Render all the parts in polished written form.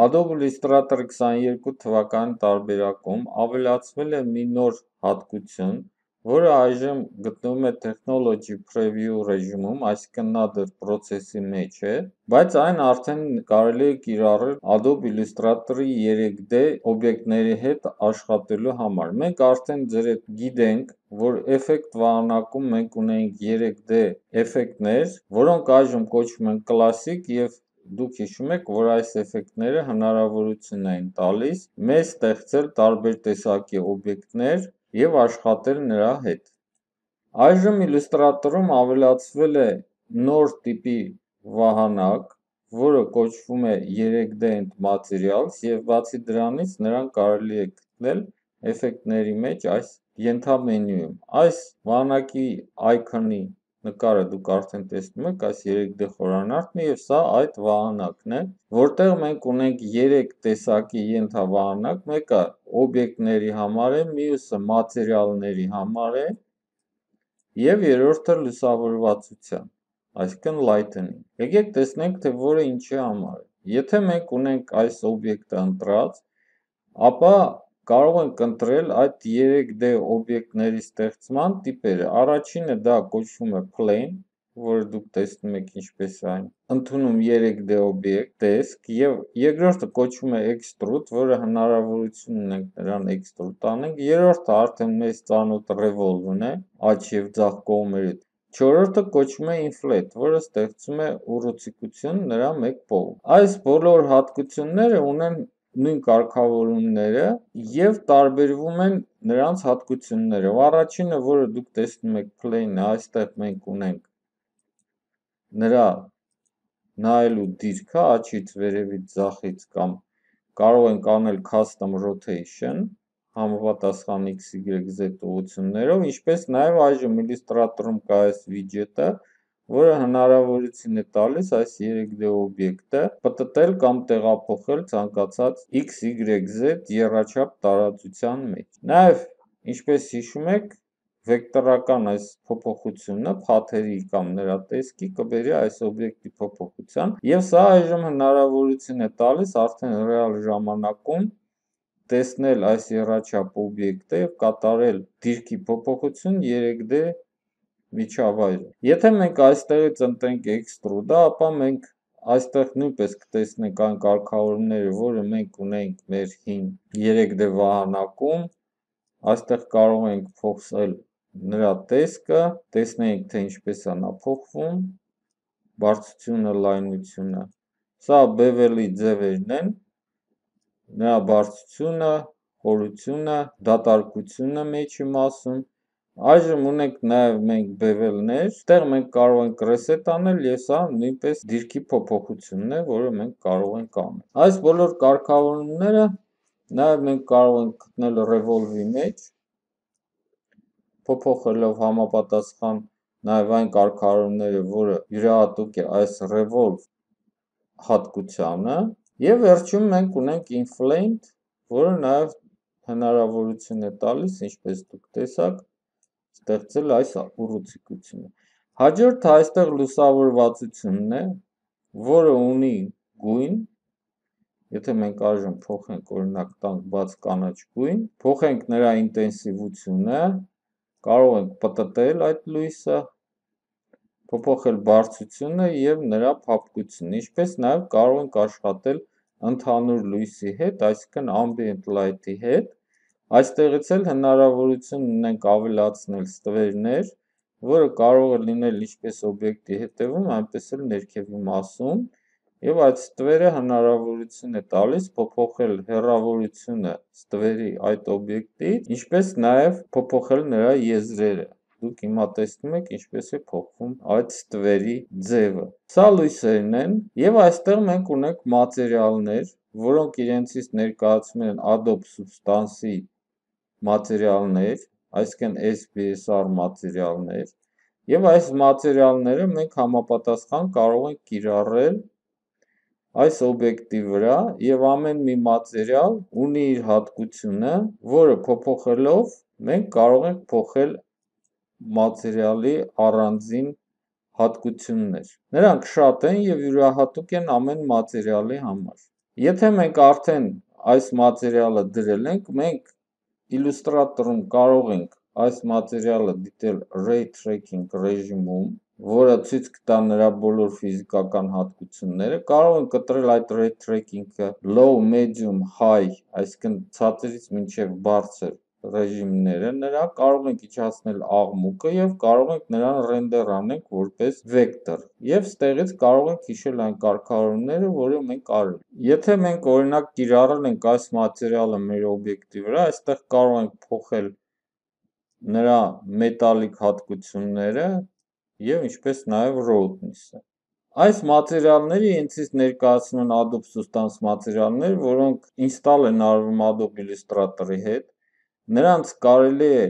Adobe Illustrator 22 թվականի տարբերակում ավելացվել է մի նոր հատկություն, որը այժմ գտնվում է Technology Preview ռեժիմում, այսինքն նա դեռ process-ի մեջ է, բայց այն արդեն կարելի է կիրառել Adobe Illustrator-ի 3D օբյեկտների հետ աշխատելու համար։ Մենք արդեն ձեր հետ գիտենք, որ effect վահանակում մենք ունենք 3D էֆեկտներ, որոնք այժմ կոչվում են Classic և դուք հիշում եք, որ այս էֆեկտները հնարավորություն են տալիս մեզ ստեղծել տարբեր տեսակի օբյեկտներ և աշխատել նրա հետ։ Այժմ Illustrator-ում ավելացվել է նոր տիպի վահանակ, որը կոչվում է 3D End Materials և բացի դրանից նրան կարելի է գտնել էֆեկտների մեջ այս ենթամենյուում։ Այս վահանակի այքոնի նկարը դուք արդեն տեսնում եք, այս 3D խորանարդն է և սա այդ վահանակն է, որտեղ մենք ունենք 3 տեսակի ենթավահանակ, մեկը օբյեկտների համար է, մյուսը մատերիալների համար է և երրորդը լուսավորվածության, այսինքն lighting։ Եկեք տեսնենք, թե որը ինչի համար է։ Եթե մենք ունենք այս օբյեկտը ընտրած, ապա կարող ենք ընտրել այդ 3D օբյեկտների ստեղծման տիպերը։ Առաջինը դա կոչվում է Plane, որը դուք տեսնում եք ինչպես է այն ընդունում 3D օբյեկտ, տեսք, և երկրորդը կոչվում է Extrude, որը հնարավորություն ունենք նրան extrude անենք, երրորդը արդեն մեզ ծանոթ Revolve-ն է, աջ և ձախ կողմերը, չորրորդը կոչվում է Inflate, որը ստեղծում է ուռուցիկություն նրա մեկ կողմ։ Այս բոլոր հատկությունները ունեն նույն կարգավորումները և տարբերվում են նրանց հատկություններով։ Առաջինը, որը դուք տեսնում եք Plane-ը, այստեղ մենք ունենք նրա նայելու դիրքը աջից, վերևից, ձախից կամ կարող ենք անել Custom Rotation համապատասխան X, Y, Z ուղղություններով, ինչպես նաև այժմ Illustrator-ում կա այս widget-ը, որը հնարավորություն է տալիս այս 3D օբյեկտը պտտել կամ տեղափոխել ցանկացած X, Y, Z եռաչափ տարածության մեջ։ Նաև, ինչպես հիշում եք, վեկտորական այս փոփոխությունը փաթերի կամ նրա տեսքի կբերի այս օբյեկտի փոփոխության, և սա այժմ հնարավորություն է տալիս արդեն ռեալ ժամանակում տեսնել այս եռաչափ օբյեկտը և կատարել դիրքի փոփոխություն 3D միջավայրում։ Եթե մենք այստեղից ընտրենք Extrude-ը, ապա մենք այստեղ նույնպես կտեսնենք այն կարգավորումները, որը մենք ունենք մեր հին 3D վահանակում, այստեղ կարող ենք փոխել նրա տեսքը, տեսնենք, թե ինչպես է նա փոխվում, բարձրությունը, լայնությունը, սա bevel-ի ձևերն են, նրա բարձրությունը, խորությունը, դատարկությունը մեջի մասում։ Այժմ ունենք նաև մենք bevel-ներ, այստեղ մենք կարող ենք reset անել և սա նույնպես դիրքի փոփոխությունն է, որը մենք կարող ենք անել։ Այս բոլոր կարգավորումները նաև մենք կարող ենք գտնել Revolve-ի մեջ, փոփոխելով համապատասխան նաև այն կարգավորումները, որը յուրահատուկ է այս Revolve հատկությանը, և վերջում մենք ունենք Inflate, որը նաև հնարավորություն է տալիս, ինչպես դուք տեսաք, ստեղծել այս ուռուցիկությունը։ Հաջորդը այստեղ լուսավորվածությունն է, որը ունի գույն, եթե մենք այժմ փոխենք, օրինակ տանք բաց կանաչ գույն, փոխենք նրա ինտենսիվությունը, կարող ենք պտտել այդ լույսը, փոփոխել բարձրությունը և նրա փափկությունը, ինչպես նաև կարող ենք աշխատել ընդհանուր լույսի հետ, այսինքն Ambient Light-ի հետ, այստեղից էլ հնարավորություն ունենք ավելացնել ստվերներ, որը կարող է լինել ինչպես օբյեկտի հետևում, այնպես էլ ներքևի մասում, և այդ ստվերը հնարավորություն է տալիս փոփոխել հեռավորությունը ստվերի այդ օբյեկտից, ինչպես նաև փոփոխել նրա եզրերը։ Դուք հիմա տեսնում եք ինչպես է փոխվում այդ ստվերի ձևը։ Սա լույսերն են, և այստեղ մենք ունենք մատերիալներ, որոնք իրենցից ներկայացնում են Adobe Substance-ի մատերիալներ, այսինքն SBSR մատերիալներ, և այս մատերիալները մենք համապատասխան կարող ենք կիրառել այս օբյեկտի վրա, և ամեն մի մատերիալ ունի իր հատկությունը, որը փոփոխելով մենք կարող ենք փոխել մատերիալի առանձին հատկություններ։ Նրանք շատ են և յուրահատուկ են ամեն մատերիալի համար։ Եթե մենք արդեն այս մատերիալը դրել ենք, մենք Illustrator-ում կարող ենք այս մատերիալը դիտել Ray Tracking ռեժիմում, որը ցույց կտա նրա բոլոր ֆիզիկական հատկությունները, կարող ենք կտրել այդ Ray Tracking-ը Low, Medium, High, այսինքն ցածրից մինչև բարձր ռեժիմները նրա, կարող ենք իջացնել աղմուկը և կարող ենք նրան ռենդեր անենք որպես վեկտոր և ստեղից կարող ենք հիշել այն կարգավորումները, որը մենք արել ենք։ Եթե մենք օրինակ կիրառել ենք այս մատերիալը մեր օբյեկտի վրա, այստեղ կարող ենք փոխել նրա մետալիկ հատկությունները և ինչպես նաև roughness-ը։ Այս մատերիալները իրենցից ներկայացնում են Adobe Substance մատերիալներ, որոնք ինստալ են արվում Adobe Illustrator-ի հետ, նրանց կարելի է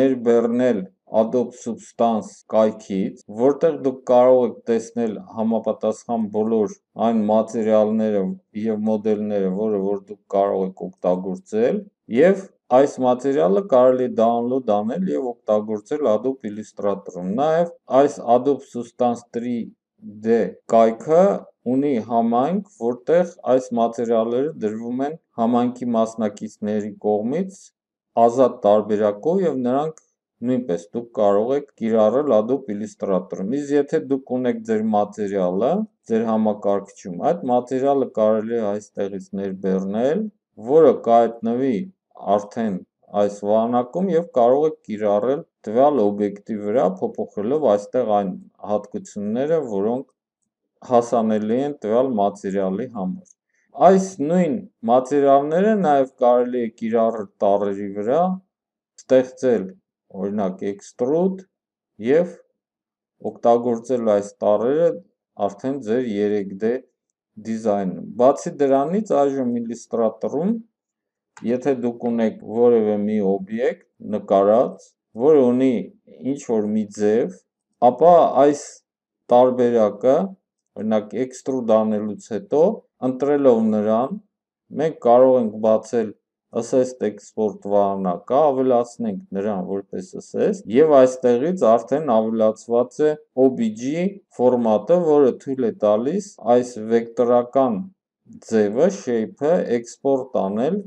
ներբեռնել Adobe Substance կայքից, որտեղ դուք կարող եք տեսնել համապատասխան բոլոր այն մատերիալները և մոդելները, որ դուք կարող եք օգտագործել, և այս մատերիալը կարելի է download անել և օգտագործել Adobe Illustrator-ում։ Նաև այս Adobe Substance 3D կայքը ունի համայնք, որտեղ այս մատերիալները դրվում են համայնքի մասնակիցների կողմից ազատ տարբերակով և նրանք նույնպես դուք կարող եք կիրառել Adobe Illustrator-ում։ Իսկ եթե դուք ունեք ձեր մատերիալը ձեր համակարգչում, այդ մատերիալը կարելի է այստեղից ներբեռնել, որը կհայտնվի արդեն այս վահանակում և կարող եք կիրառել տվյալ օբյեկտի վրա, փոփոխելով այստեղ այն հատկությունները, որոնք հասանելի են տվյալ մատերիալի համար։ Այս նույն մատերիալները նաև կարելի է կիրառել տառերի վրա, ստեղծել օրինակ extrude և օգտագործել այս տառերը արդեն ձեր 3D դիզայնում։ Բացի դրանից այժմ Illustrator-ում, եթե դուք ունեք որևէ մի օբյեկտ նկարած, որը ունի ինչ-որ մի ձև, ապա այս տարբերակը, օրինակ extrude անելուց հետո, ընտրելով նրան, մենք կարող ենք բացել Assist Export վահանակը, ավելացնենք նրան որպես SS և այստեղից արդեն ավելացված է OBJ ֆորմատը, որը թույլ է տալիս այս վեկտորական ձևը, shape-ը export անել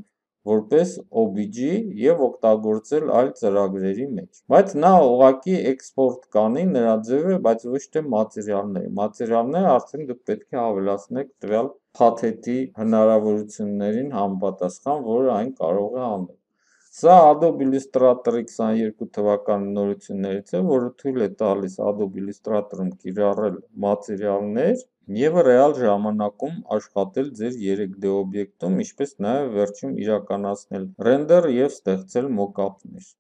որպես OBJ և օգտագործել այլ ծրագրերի մեջ։ Բայց նա ուղղակի export կանի նրա ձևը, բայց ոչ թե մատերիալները։ Մատերիալները արդեն դուք պետք է ավելացնեք տվյալ փաթեթի հնարավորություններին համապատասխան, որը այն կարող է անել։ Սա Adobe Illustrator-ի 22 թվականի նորություններից է, որը թույլ է տալիս Adobe Illustrator-ում կիրառել մատերիալներ և ռեալ ժամանակում աշխատել ձեր 3D օբյեկտում, ինչպես նաև վերջում իրականացնել ռենդեր և ստեղծել մոկափներ։